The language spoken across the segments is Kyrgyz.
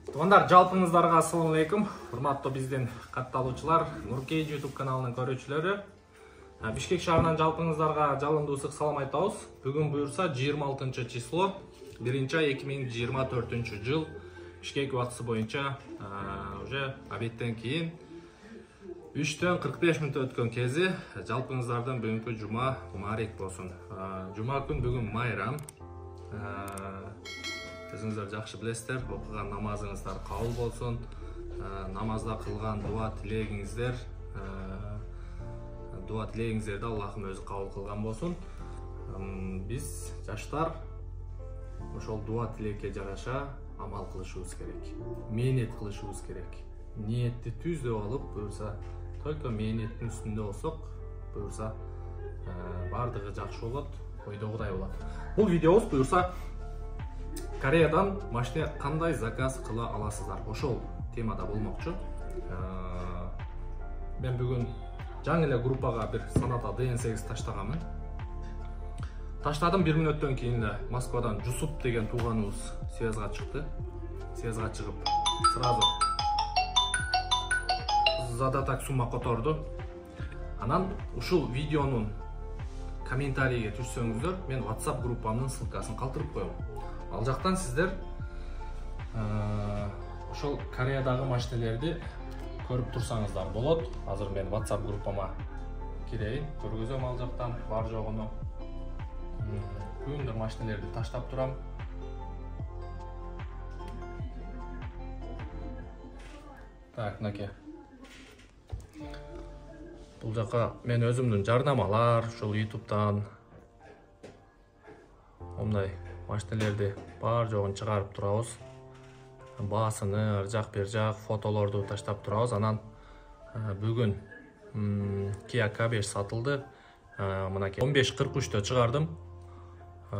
Туугандар, жалпыңыздарга ассаламу алейкум. Урматтуу биздин катталуучулар, Нуркей YouTube каналынын көрүүчүлөрү. Бишкек шаарынан жалпыңыздарга жалындуу ысык салам айтабыз. Бүгүн буюрса 26 число 1-2024 жыл Бишкек убактысы боюнча уже обедтен кийин 3:45 өткөн кези жалпыңыздардан бүгүнкү жума мубарек болсун. Жума күн бүгүн майрам. Өзүңүздөр жакшы билесиздер, окуган намазыңыздар кабыл болсун. Намазда кылган дуа тилегиңиздерди Аллахым өзү кабыл кылган болсун. Биз жаштар ошол дуа тилекке жараша амал кылышыбыз керек. Мээнет кылышыбыз керек. Ниетти түздүп алып, буюрса только мээнеттин үстүндө болсок, буюрса бардыгы жакшы болот, ойдогудай болот. Бул видеобуз буюрса Кореядан машина кандай заказ кыла аласыздар? Ошол темада болмокчу. Мен бүгүн жаңы эле группага бир саната DN8 таштаганмын. Таштадым 1 мүнөттөн кийин эле Москвадан Жусуп деген тууганыбыз связга чыкты. Связга чыгып сразу задатак сумма которду. Анан ушул видеонун комментарийге түшсөңүздөр, мен WhatsApp группамдын ссылкасын калтырып коем. Ал жактан сиздер ошол Кореядагы машинелерди көрүп турсаңыздар болот. Азыр мен WhatsApp группама кирейин, көргөзөм ал жактан бар жогуну. Күндөр машинелерди таштап турам. Так, мынакей. Бул жака мен өзүмдүн жарнамалар, ушул YouTube'дан мындай машинелерди бар жогун чыгарып турабыз. Баасыны, ар жак бер жак фотолорду таштап турабыз. Анан бүгүн Kia K5 сатылды. Мынакей 15:43-тө чыгардым.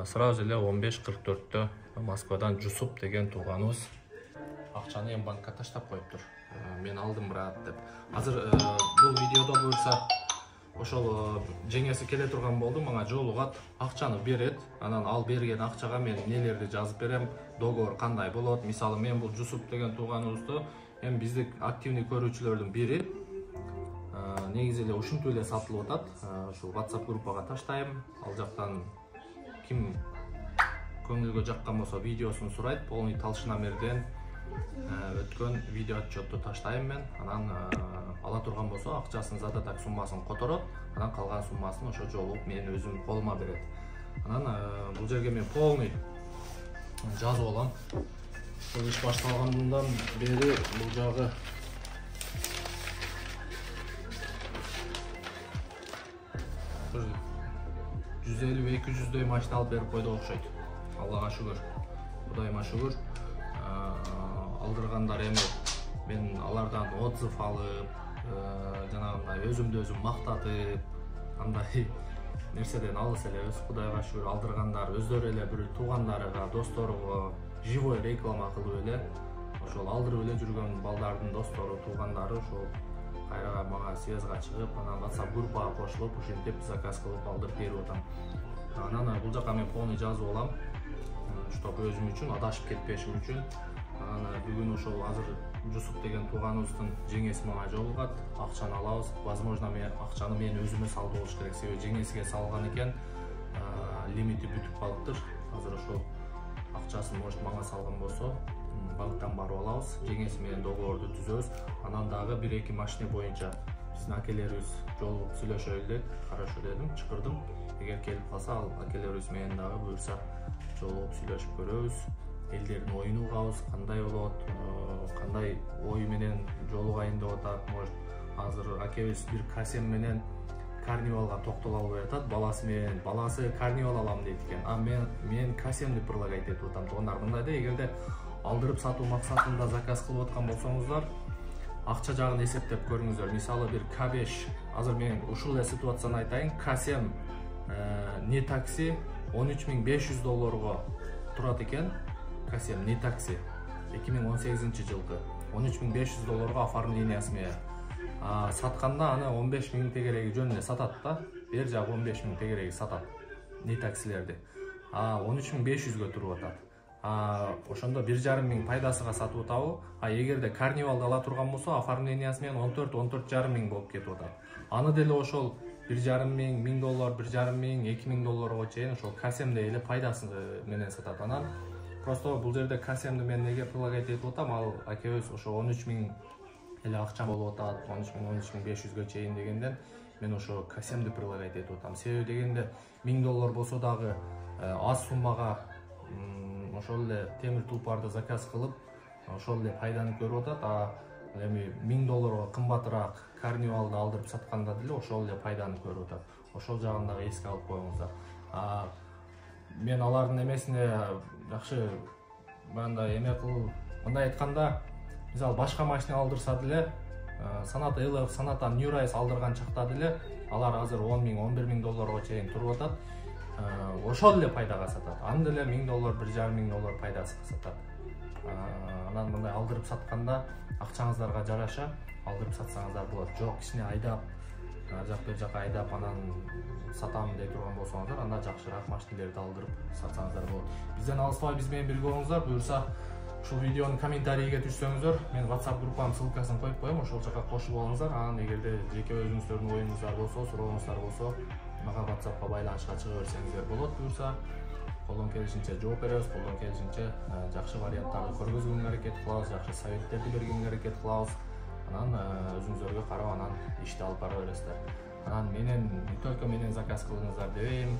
Сразу эле 15:44-тө Москвадан Жусуп деген тууганыбыз акчаны банкка таштап коюптур. Мен алдым брат деп. Азыр бул видеодо буюрса ошол жеңеси келе турган болду, мага жолугат, акчаны берет. Анан ал берген акчага мен нелерди жазып берем, договор кандай болот. Мисалы, мен бул Жусуп деген тууганыбызды эми биздик активный көрүүчүлөрдүн бири негизи эле ушинтип эле сатылып атат. Ушул WhatsApp группага таштайм. Ал жактан ким көңүлгө жаккан болсо видеосун сурайт. Полный талшынамерден өткөн видео отчетту таштайм мен. Анан ала турган болсо акчасын задатак суммасын которот. Анан калган суммасын ошо жолу мен өзүм колума берет. Анан бул жерге мен полный жазып алам. Бул иш башталгандан бери бул жагы 150-200дөй машина алып берип койду окшойт. Аллага шүгүр. Кудайыма шүгүр. Алдыргандар эми мен алардан отзыв алып, жанагындай өзүмдү өзүм мактатып, андай нерседен алыс элебиз. Кудайга шүгүр, алдыргандар өздөрү эле бир туугандарыга, досторуга живой реклама кылып эле, ошол алдырып эле жүргөн балдардын достору, туугандары ошол кайра мага связга чыгып, анан WhatsApp группага кошулуп, ушинтип заказ кылып алдырып берип атам. Анан бул жака мен полный жазып алам, чтоб өзүм үчүн адашып кетпешим үчүн. Анан бүгүн ошол азыр Жусуп деген тууганыбыздын жеңеси мага жолугат, акчаны алабыз. Возможно, мен акчаны мен өзүмө салып болуш керек. Себеби жеңесиге салган экен, лимити бүтүп калыптыр. Азыр ошол акчасын может мага салган болсо, банктан барып алабыз. Жеңеси менен договорду түзөбүз. Анан дагы 1-2 машина боюнча биздин акелерибиз жолугуп сүйлөшөлү деп, карашо дедим, чакырдым. Эгер келип калса, ал акелерибиз менен дагы буюрса жолугуп сүйлөшүп көрөбүз. Элдердин оюн угабыз, кандай болот, кандай ой менен жолугайын деп атат. Может, азыр акебиз бир Касем менен Карнивалга токтоло албай атат. Баласы Карнивал алам дейт экен. Мен Касемди предлагать этип атам. Туугандар, мындай да, эгерде алдырып сатуу максатында заказ кылып аткан болсоңуздар, акча жагын эсептеп көрүңүздөр. Мисалы, бир K5, азыр мен ушул эле ситуацияны айтайын. Касем не такси $13,500 турат экен. Касем не такси 2018 жылкы $13,500 оформлениясы менен. Сатканда аны 15.000 тегереги жөн эле сатат да. Бер жагы 15.000 тегереги сатат не таксилерди. 13.500-гө туруп атат. ошондо 1,5 миң пайдасыга сатып атабы. Эгерде карнивалды ала турган болсо, оформлениясы менен 14-14,5 миң болуп кетип атат. Аны деле ошол 1,5 миң, $1000, 1,5 миң, $2000 чейин ошол касемде эле пайдасы менен сатат. Анан просто бул жерде касемди мен неге прилагать этип атам? Ал акебиз ошо 13 миң эле акча болуп атат, 13 миң, 13.500га чейин дегенден мен ошо касемди прилагать этип атам. Себеби дегенде $1000 болсо дагы аз суммага ошол эле темир тулпарды заказ кылып, ошол эле пайданы көрүп атат. Эми $1000 кымбатыраак карнивалды алдырып сатканда деле ошол эле пайданы көрүп атат. Ошол жагын дагы эске алып коюңуздар. Мен алардын эмесине жакшы мындай эме кылып, мындай айтканда, мисалы башка машина алдырса деле, Sonata LF, Sonata New Rise алдырган чакта деле алар азыр $10 миң, $11,000 чейин туруп атат. Ошол эле пайдага сатат. Аны деле $1000, $1,5 пайдасыга сатат. Анан мындай алдырып сатканда акчаңыздарга жараша алдырып сатсаңыздар болот. Жок, кичине айдап, жак бер жака айдап анан сатам дей турган болсоңуздар, анда жакшыраак машиналерди алдырып сатсаңыздар болот. Бизден алыспай биз менен бирге болуңуздар. Буюрса ушул видеонун комментарийге түшсөңүздөр, мен WhatsApp группамдын ссылкасын коюп коем, ошол жака кошуп алыңыздар. Анан эгерде жеке өзүңүздөрдүн оюңуздар болсо, сурооңуздар болсо, мага WhatsAppка байланышка чыга берсеңиздер болот. Буюрса колдон келишинче жооп беребиз, колдон келишинче жакшы варианттарды көргөзгөнгө аракет кылабыз, жакшы советтерди бергенге аракет кылабыз. Анан өзүңүздөргө карап анан ишти алып бара бересиздер. Анан менен не только менен заказ кылыңыздар дебейм,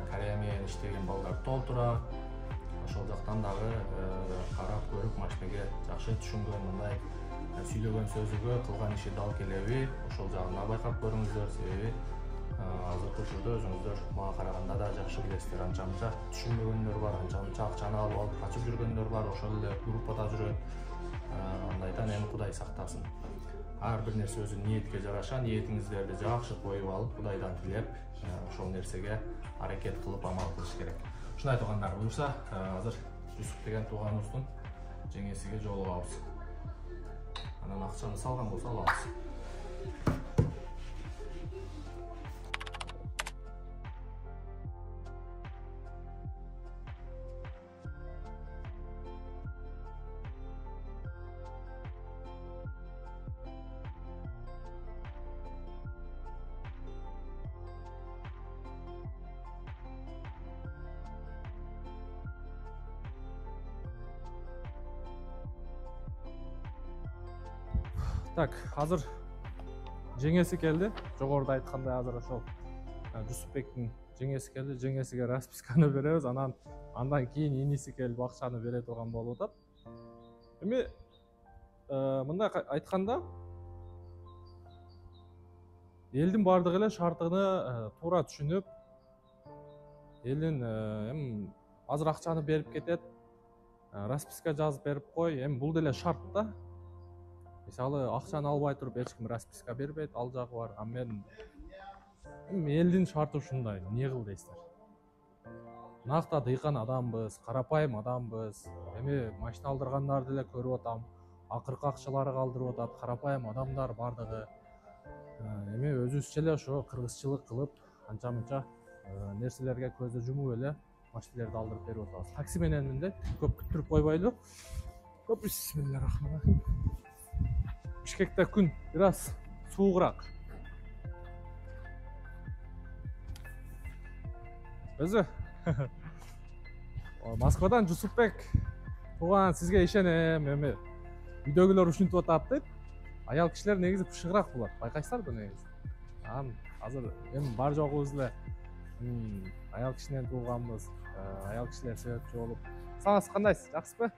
Корея менен иштеген балдар толтура. Ошол жактан дагы карап көрүп машинеге жакшы түшүнгөн, мындай сүйлөгөн сөзүгө кылган иши дал келеби, ошол жагын да байкап көрүңүздөр. Себеби азыркы учурда өзүңүздөр мага караганда да жакшы билесиздер, анча-мынча түшүнбөгөндөр бар, анча-мынча акчаны алып качып жүргөндөр бар, ошол эле группада жүрөт. Андайдан эми Кудай сактасын. Ар бир нерсе өзүнүн ниетке жараша, ниетиңиздерди жакшы коюп алып, Кудайдан тилеп, ошол нерсеге аракет кылып амал кылыш керек. Ушуну айткандар буюрса, азыр Жусуп деген тууганыбыздын жеңесиге жолугабыз. Анан акчаны салган болсо алабыз. Так, азыр жеңеси келди. Жогоруда айткандай азыр ошол Жусупбектин жеңеси келди. Жеңесиге расписканы беребиз. Андан кийин иниси келип акчаны бере турган болуп атат. Эми мындай айтканда элдин бардыгы эле шартыны туура түшүнүп, элдин эми азыр акчаны берип кетет, расписка жазып берип кой. Эми бул деле шарт да. Мисалы, акчаны албай туруп эч ким расписка бербейт, ал жагы бар. Эми элдин шарты ушундай, эмне кыл дейсиздер? Накта дыйкан адамбыз, карапайым адамбыз. Эми машина алдыргандарды деле көрүп атам. Акыркы акчалары калтырып атат, карапайым адамдар бардыгы. Эми өзүбүзчө эле ошо кыргызчылык кылып, анча-мынча нерселерге көздү жумуп эле машиналерди алдырып берип атабыз. Такси менен мындай көп күттүрүп койбойлу. Бисмиллахиррахманиррахим. Бишкекте күн бир аз суугураак. Өзү Москвадан Жусупбек тууган, сизге ишенем. Эми үйдөгүлөр ушинтип атат дейт. Аял кишилер негизи пышыгыраак болот. Байкайсыздарбы негизи? Азыр эми бар жогубуз эле аял кишинен тууганбыз. Аял кишилер себепчи болуп. Саңыз кандайсыз? Жакшысызбы?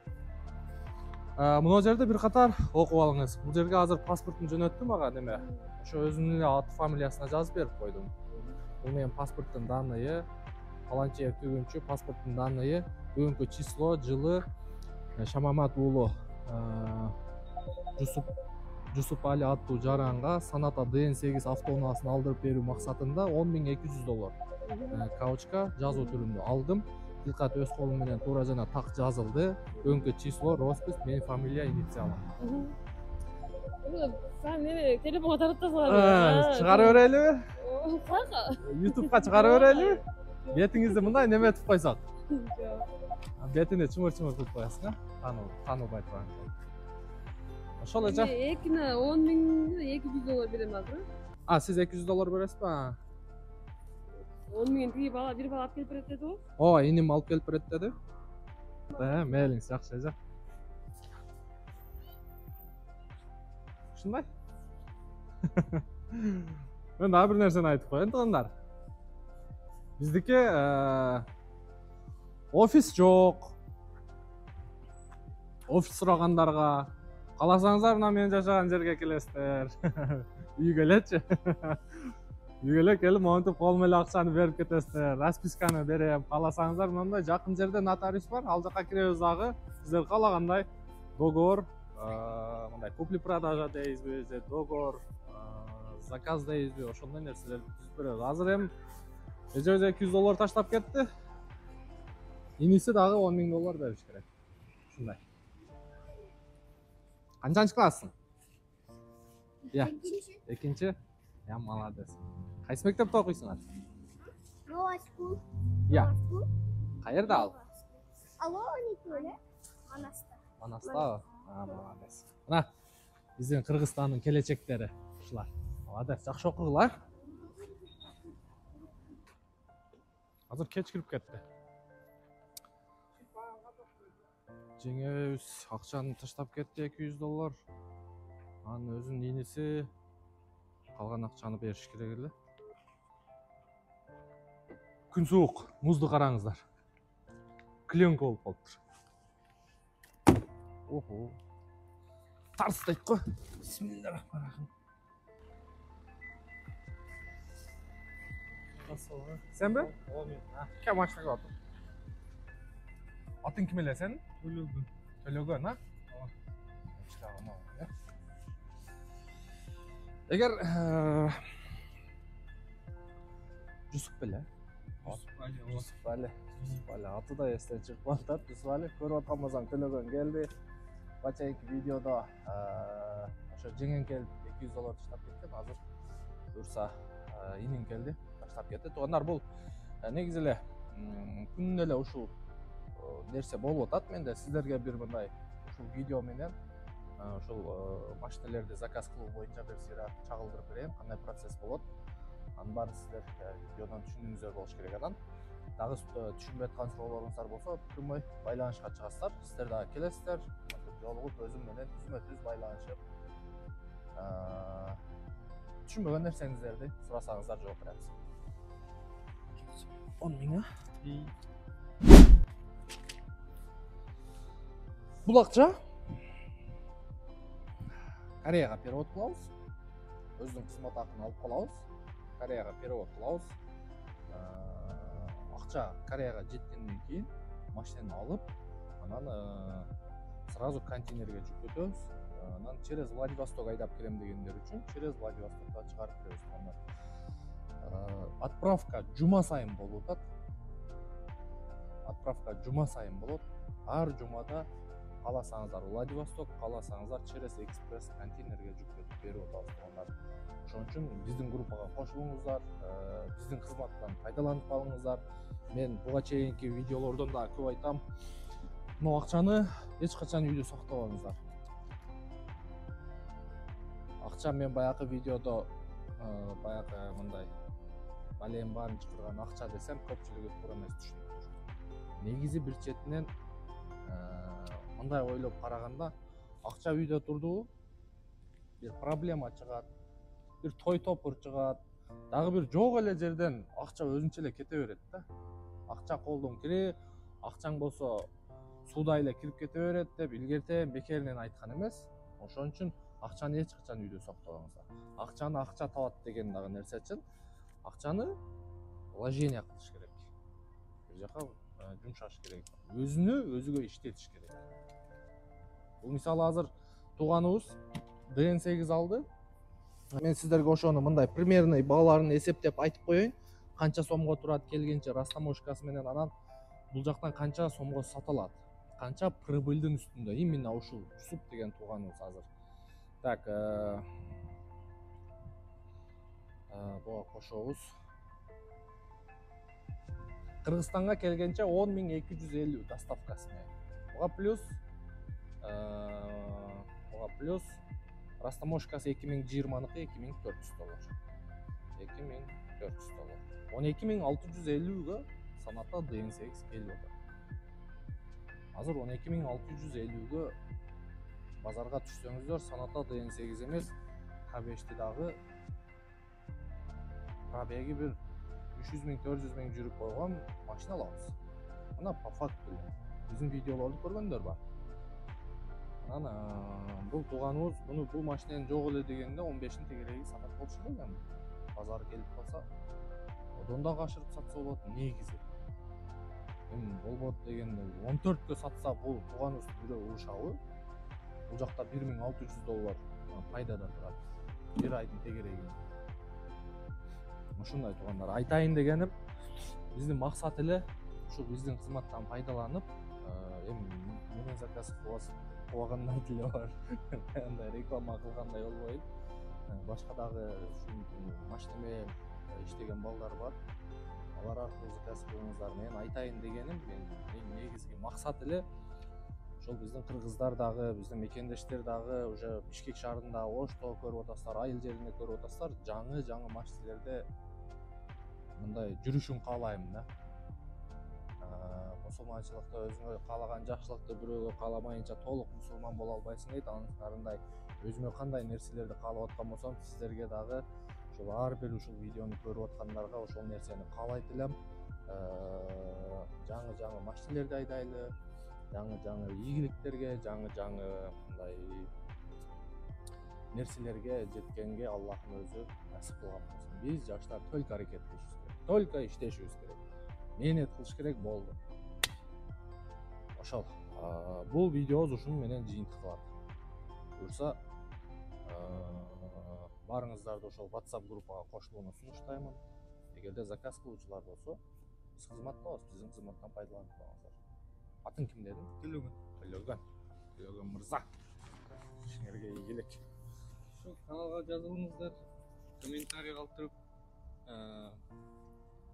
Мына жерде бир катар окуп алыңыз. Бул жерге азыр паспортун жөнөттүм ага неме. Ошо өзүнүн эле аты фамилиясына жазып берип койдум. Бул менин паспорттун данные, Паланчиев Түгүнчү, паспорттун данные, бүгүнкү число, жылы, Шамамат уулу Жусуп Али аттуу жаранга Sonata DN8 автоунаасын алдырып берүү максатында $10.200 каучка жазуу түрүндө алдым. Тилкат өз колум менен туура жана так жазылды. Бүгүнкү число, роспись, менин фамилия, инициалым. Sen telefona tarattasыңар. Чыгарып берелиби? Каяка? YouTube'га чыгарып берелиби? Бетиңизди мындай неметип койсок. Бетине чымыр-чымыр кылып коесуң, таанылбай турган. Ошол эле жак. Экине 10 миң $200 берем азыр. Сиз $200 бересизби? 10 миң бир бала алып келип берет деди го. Ооба, иним алып келип берет деди. Мейлиңиз жакшы эже. Ушундай. Мен дагы бир нерсени айтып коеюн туугандар. Биздики офис жок. Офис сурагандарга кааласаңыздар мына мен жашаган жерге келесиздер. Үйгө элечи. Үйгө эле келип монтип колум эле акчаны берип кетесиздер. Расписканы берем. Кааласаңыздар мындай жакын жерде нотариус бар. Ал жака киребиз дагы. Сиздер каалагандай договор, мындай купли-продажа дейбизби, же договор, заказ дейбизби, ошондой нерселерди түзүп беребиз. Азыр эми эже $200 таштап кетти. Иниси дагы $10 миң бериш керек. Ушундай. Канчанчы классың? Экинчи. Я молодец. Кайсы мектепте окуйсуңар? Новоскул. Каерде ал? Алоникөле. Манаста. Манастабы? Молодец. Мына биздин Кыргызстандын келечектери ушулар. Молодец, жакшы окугула. Азыр кеч кирип кетти. Жеңебиз акчаны таштап кетти $200. Анын өзүнүн иниси калган акчаны бериш керек эле. Күн суук, музду караңыздар. Клеенка болуп калыптыр. Охо. Тарс дейт го. Бисмиллахиррахманиррахим. Сенби? Кем машинага отур? Атың ким эле сен? Төлөгөн, а? Эгер Жусуп беле? Жусуп Али. Аты да эстен чыгып атат. Жусуп Али көрүп аткан болсоң Төлөгөн келди. Бачайки видеодо ошо жеңен келип $200 таштап кеткен. Азыр буюрса инин келди, таштап кетти. Туугандар, бул негизи эле күнүнө эле ушул нерсе болуп атат. Менде сиздерге бир мындай ушул видео менен ушул машинелерди заказ кылуу боюнча бир сыйра чагылдырып берейин. Кандай процесс болот? Анын баарын сиздер видеодон түшүнүүңүздөр болуш керек. Анан дагы түшүнбөй аткан суроолоруңуздар болсо, прямой байланышка чыгасыздар. Сиздер дагы келесиздер, жолугуп өзүм менен түзмө-түз байланышып, түшүнбөгөн нерсеңиздерди сурасаңыздар жооп беребиз. 10 миң. Бул акча Кореяга перевод кылабыз. Өзүнүн кызмат акын алып калабыз. Кореяга перевод кылабыз. Акча Кореяга жеткенден кийин машинени алып, анан сразу контейнерге жүктөтөбүз. Анан через Владивосток айдап келем дегендер үчүн через Владивостокко чыгарып беребиз. Отправка жума сайын болуп атат. Отправка жума сайын болот. Ар жумада кааласаңыздар Владивосток, кааласаңыздар через экспресс контейнерге жүктөтүп берип атабыз. Ошон үчүн биздин группага кошулуңуздар, биздин кызматтан пайдаланып калыңыздар. Мен буга чейинки видеолордон да көп айтам. Бул акчаны эч качан үйдө сактабаңыздар. Акча мен баягы видеодо баягы мындай балем баарын чакырган акча десем, көпчүлүгү туура эмес түшүнүптүр. Негизи бир четинен мындай ойлоп караганда, акча үйдө турду, бир проблема чыгат, бир той топур чыгат, дагы бир жок эле жерден акча өзүнчө эле кете берет да. Акча колдон кире, акчаң болсо суда эле кирип кете берет деп илгертен бекеринен айткан эмес. Ошон үчүн акчаны эч качан үйдө сактабаңыздар. Акчаны акча табат деген дагы нерсе үчүн акчаны вложение кылыш керек. Бир жака жумшаш керек. Өзүгө иштетиш керек. Бул мисалы азыр тууганыбыз DN8 алды. Мен сиздерге ошону мындай примерный бааларын эсептеп айтып коеюн. Канча сомго турат келгенче растаможкасы менен, анан бул жактан канча сомго сатылат. Канча прибыльдин үстүндө. Именно ушул Жусуп деген тууганыбыз азыр. Так, буга кошобуз. Кыргызстанга келгенче 10.250 доставкасы менен. Буга плюс растаможкасы 2020-ныкы $2400. 2400. 12.650-гө санатта DN8 келип атат. Азыр 12.650-гө базарга түшсөңүздөр, санатта DN8 эмес, K5-ти дагы пробеги бир 300.000-400.000 жүрүп койгон машина алабыз. Мына по факту биздин видеолорду көргөндөр бар. Анан бул тууганыбыз бул машинени жок эле дегенде 15-ин тегереги сатат болушу керек эми. Базар келип калса, одон да кашырып сатса болот негизи. Эми болбот дегенде 14кө сатса бул тууганыбыз бирөө урушабы? Бул жакта $1.600 пайдада турат. Бир айдын тегереги. Ушундай туугандар, айтайын дегеним, биздин максат эле ушу биздин кызматтан пайдаланып, эми менен заказ кылгандай деле бар. Андай реклама кылгандай болбойт. Башка дагы машина менен иштеген балдар бар. Алар аркылуу заказ кылыңыздар. Мен айтайын дегеним, менин негизги максат эле ошол биздин кыргыздар дагы, биздин мекендештер дагы уже Бишкек шаарында, Ошто көрүп атасыздар, Айыл жеринде көрүп атасыздар, жаңы машиналерде мындай жүрүшүн каалайм да. Мусулманчылыкта өзүңө каалаган жакшылыкты бирөөгө кааламайынча толук мусулман боло албайсың дейт. Анысындай өзүмө кандай нерселерди каалап аткан болсом, сиздерге дагы ушул ар бир ушул видеону көрүп аткандарга ошол нерсени каалайт элем. Жаңы машиналерди айдайлы, жаңы ийгиликтерге, жаңы мындай нерселерге жеткенге Аллахтын өзү насип кылган болсун. Биз жаштар только аракет кылышыбыз керек, только иштешибиз керек, мээнет кылыш керек, болду. Ошол. Бул видеобуз ушуну менен жыйынтык кылат. Буюрса, барыңыздарды ошол WhatsApp группага кошулууну сунуштаймын. Эгерде заказ кылуучулар болсо, биз кызматтабыз, биздин кызматтан пайдаланып коюңуздар. Атын ким дедим? Төлөгөн мырза. Силерге ийгилик. Şu kanalga жазылыңыздар, комментарий калтырып,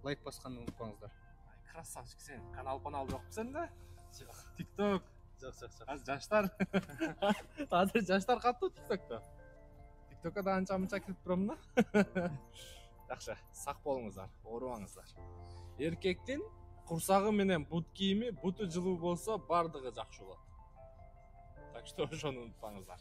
лайк басканды унутпаңыздар. Красавчик сен. Канал жокпу сенде? Жок. TikTok. Жок. Азыр жаштар. Азыр жаштар каттуу TikTokто. TikTokко да анча-мынча кирип турам да. Жакшы, сак болуңуздар, оорубаңыздар. Эркектин курсагы менен бут кийими, буту жылуу болсо бардыгы жакшы болот. Так что ошону унутпаңыздар.